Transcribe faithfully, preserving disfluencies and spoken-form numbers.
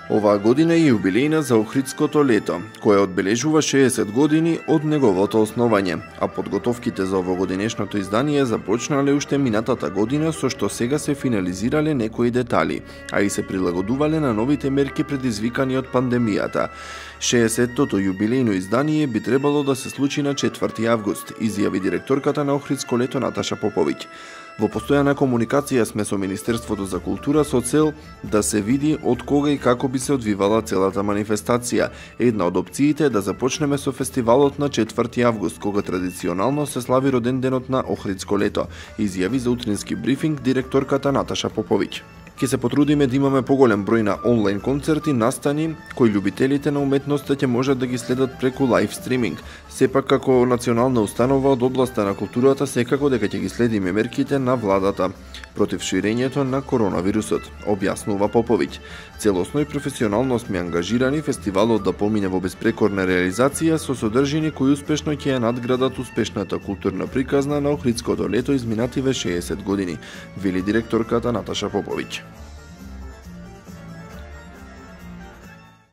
Оваа година е јубилејна за Охридското лето, кое одбележува шеесет години од неговото основање, а подготовките за овогодинешното издание започнале уште минатата година, со што сега се финализирале некои детали, а и се прилагодувале на новите мерки предизвикани од пандемијата. шеесеттото јубилејно издание би требало да се случи на четврти август, изјави директорката на Охридско лето Наташа Поповиќ. Во постојана комуникација сме со Министерството за култура со цел да се види од кога и како би се одвивала целата манифестација. Една од опциите е да започнеме со фестивалот на четврти август, кога традиционално се слави роденденот на Охридско лето, изјави за утрински брифинг директорката Наташа Поповиќ. Ке се потрудиме да имаме поголем број на онлайн концерти, настани, кои љубителите на уметноста ќе можат да ги следат преку лайв стриминг. Сепак, како национална установа од областа на културата, секако дека ќе ги следиме мерките на владата против ширењето на коронавирусот, објаснува Поповиќ. Целосно и професионално сме ангажирани фестивалот да помине во безпрекорна реализација со содржини кои успешно ќе ја надградат успешната културна приказна на Охридското лето изминативе шеесет години, вели директорката Наташа Поповиќ.